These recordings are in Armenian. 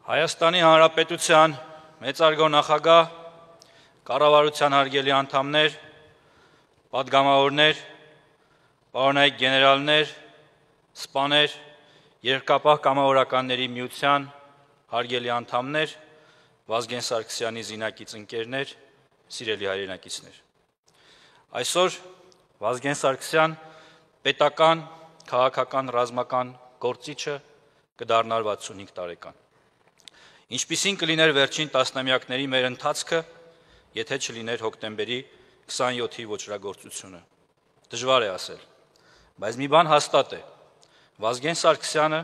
Հայաստանի Հանրապետության մեծարգո նախագահ, կառավարության հարգելի անդամներ, պատգամավորներ, պարոնայք գեներալներ, սպաներ, երկրապահ կամավորականների միության հարգելի անդամներ, Վազգեն Սարգսյանի զինակից ընկերներ, սիրելի հայրենակիցներ։ Այսօր Վազգեն Սարգսյան պետական, քաղաքական, ռազմական գործիչը կդառնար 65 տարեկան։ Ինչպիսին կլիներ վերջին տասնամյակների մեր ընթացքը, եթե չլիներ հոկտեմբերի 27-ի ոճրագործությունը։ Դժվար է ասել, բայց մի բան հաստատ է. Վազգեն Սարգսյանը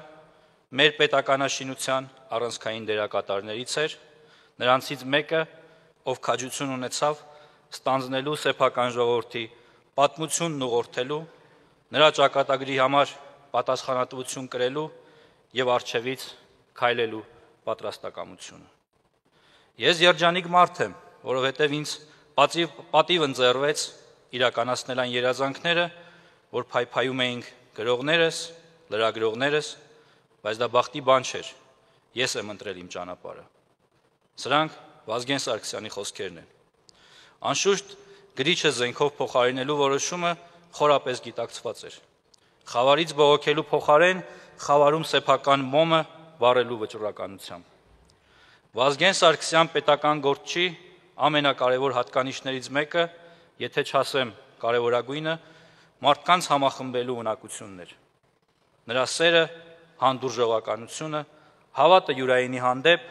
մեր պետականաշինության առանցքային դերակատարներից էր, նրանցից մեկը, ով քաջություն ունեցավ ստանձնելու սեփական ժողովրդի պատմությունն ուղղորդելու, նրա ճակատագրի համար պատասխանատվություն կրելու եւ առջևից քայլելու պատրաստակամությունը։ Ես երջանիկ մարդ եմ, որովհետև ինձ պատիվ ընձեռվեց իրականացնել այն երազանքները, որ փայփայում էինք գրողներս, լրագրողներս, բայց դա բախտի բան չէր։ Ես եմ ընտրել իմ ճանապարհը։ Սրանք Վազգեն Սարգսյանի խոսքերն են։ Անշուշտ գրիչը զենքով փոխարինելու որոշումը խորապես գիտակցված էր։ Խավարից բողոքելու փոխարեն խավարում սեփական մոմը վառելու վճռականությամբ։ Վազգեն Սարգսյան պետական գործչի ամենակարևոր հատկանիշներից մեկը, եթե չասեմ կարևորագույնը, մարդկանց համախմբելու ունակությունն էր։ Նրա սերը, հանդուրժողականությունը, հավատը յուրայինի հանդեպ,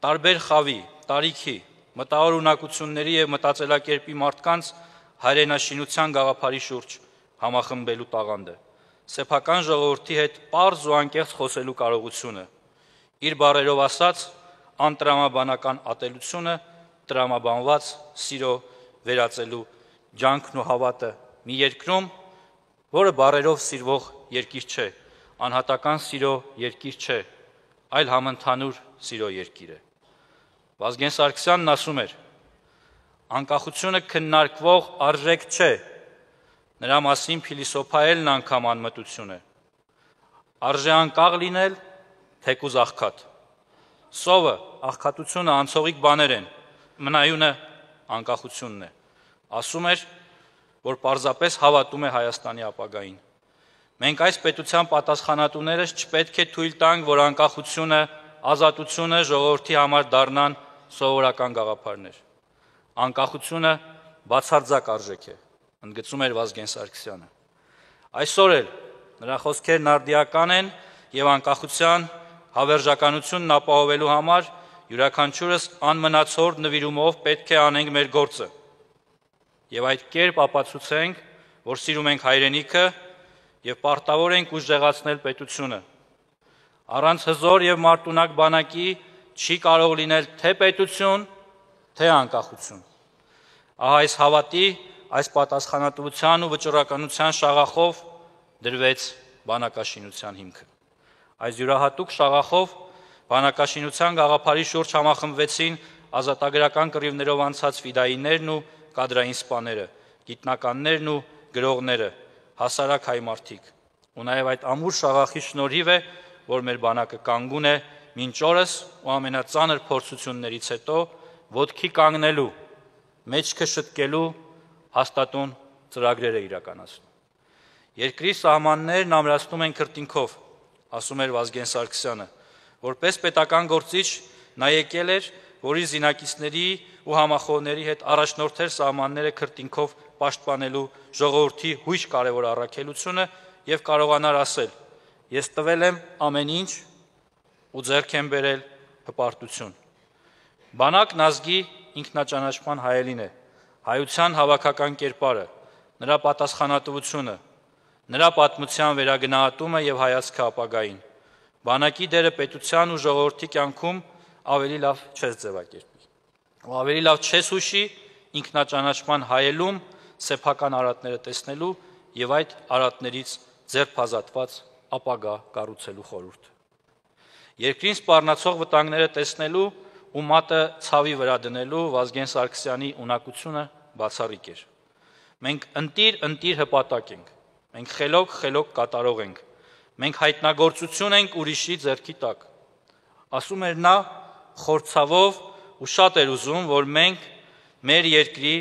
տարբեր խավի, տարիքի, մտավոր ունակությունների եւ մտածելակերպի մարդկանց հայրենաշինության գաղափարի շուրջ համախմբելու տաղանդը, սեփական ժողովրդի հետ պարզ ու անկեղծ խոսելու կարողությունը, իր բառերով ասած, անտրամաբանական ատելությունը տրամաբանված սիրո վերածելու ջանքն ու հավատը մի երկրում, որը բառերով սիրվող երկիր չէ, անհատական սիրո երկիր չէ, այլ համընդհանուր սիրո երկիր է։ Վազգեն Սարգսյանն ասում էր. անկախությունը քննարկվող արժեք չէ, նրա մասին փիլիսոփայելն անգամ անմտություն է։ Արժե անկախ լինել, թեկուզ աղքատ։ Սովը, աղքատությունը անցողիկ բաներ են, մնայունը անկախությունն է։ Ասում էր, որ պարզապես հավատում է Հայաստանի ապագային։ Մենք այս պետության պատասխանատուներս չպետք է թույլ տանք, որ անկախությունը, ազատությունը ժողովրդի համար դառնան սովորական գաղափարներ։ Անկախությունը բացարձակ արժեք է, ընդգծում էր Վազգեն Սարգսյանը։ Այսօր էլ նրա խոսքերն արդիական են եւ անկախության հավերժականությունն ապահովելու համար յուրաքանչյուրս անմնացորդ նվիրումով պետք է անենք մեր գործը եւ այդ կերպ ապացուցենք, որ սիրում ենք հայրենիքը եւ պարտավոր ենք ուժեղացնել պետությունը։ Առանց հզոր եւ մարտունակ բանակի չի կարող լինել թե պետություն, թե անկախություն։ Ահա այս հավատի, այս պատասխանատվության ու վճռականության շաղախով դրվեց բանակաշինության հիմքը։ Այս յուրահատուկ շաղախով բանակաշինության գաղափարի շուրջ համախմբվեցին ազատագրական կռիվներով անցած ֆիդայիներն ու կադրային սպաները, գիտնականներն ու գրողները, հասարակ հայ մարդիկ։ Ու նաև այդ ամուր շաղախի շնորհիվ է, որ մեր բանակը կանգուն է մինչ օրս ու ամենածանր փորձություններից հետո ոտքի կանգնելու, մեջքը շտկելու հաստատուն ծրագրեր է իրականացնում։ Երկրի սահմաններն ամրացնում են քրտինքով, ասում էր Վազգեն Սարգսյանը, որպես պետական գործիչ նա եկել էր, որ իր զինակիցների ու համախոհների հետ առաջնորդեր սահմանները քրտինքով պաշտպանելու ժողովրդի հույժ կարևոր առաքելությունը եւ կարողանար ասել. ես տվել եմ ամեն ինչ ու ձեռք եմ բերել հպարտություն։ Բանակն ազգի ինքնաճանաչման հայելին է, հայության հավաքական կերպարը, նրա պատասխանատվությունը, նրա պատմության վերագնահատումը եւ հայացքը ապագային։ Բանակի դերը պետության ու ժողովրդի կյանքում ավելի լավ չես ձևակերպի։ Ու ավելի լավ չես հուշի ինքնաճանաչման հայելում սեփական արատները տեսնելու եւ այդ արատներից ձեռքազատված ապագա կառուցելու խորհուրդ։ Երկրին սպառնացող վտանգները տեսնելու ու մատը ցավի վրա դնելու Վազգեն Սարգսյանի ունակությունը բացառիկ էր։ Մենք ընտիր հպատակ ենք, մենք խելոք կատարող ենք, մենք հայտնագործություն ենք ուրիշի ձեռքի տակ։ Ասում էր նա խորցավով ու շատ էր ուզում, որ մենք մեր երկրի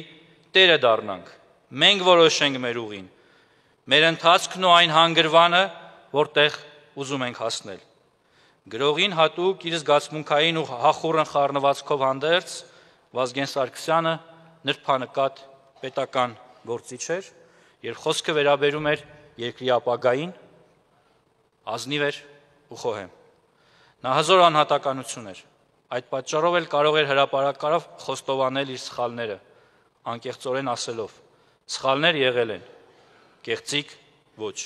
տերը դառնանք, մենք որոշենք մեր ուղին, մեր ընթացքն ու այն հանգրվանը, որտեղ ուզում ենք հասնել։ Գրողին հատուկ իր զգացմունքային ու հախուռն խառնվածքով հանդերձ Վազգեն Սարգսյանը նրբանկատ պետական գործիչ էր, երբ խոսքը վերաբերում էր երկրի ապագային, ազնիվ էր ու խոհեմ։ Նա հզոր անհատականություն էր, այդ պատճառով էլ կարող էր հրապարակարով խոստովանել իր սխալները, անկեղծորեն ասելով. սխալներ եղել են, կեղծիկ ոչ։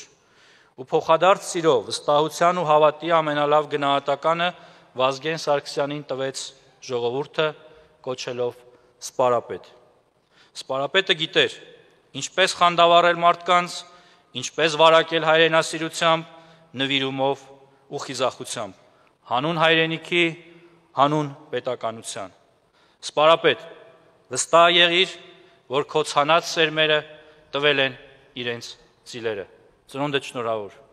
Ու փոխադարձ սիրով, վստահության ու հավատի ամենալավ գնահատականը Վազգեն Սարգսյանին տվեց ժողովուրդը, կոչելով սպարապետ։ Սպարապետը գիտեր, ինչպես խանդավառել մարդկանց, ինչպես վարակել հայրենասիրությամբ, նվիրումով ու խիզախությամբ, հանուն հայրենիքի, հանուն պետականության։ Սպարապետ, վստահ եղիր, որ քո ցանած սերմերը տվել են իրենց ծիլերը։ Ծնունդդ շնորհավոր։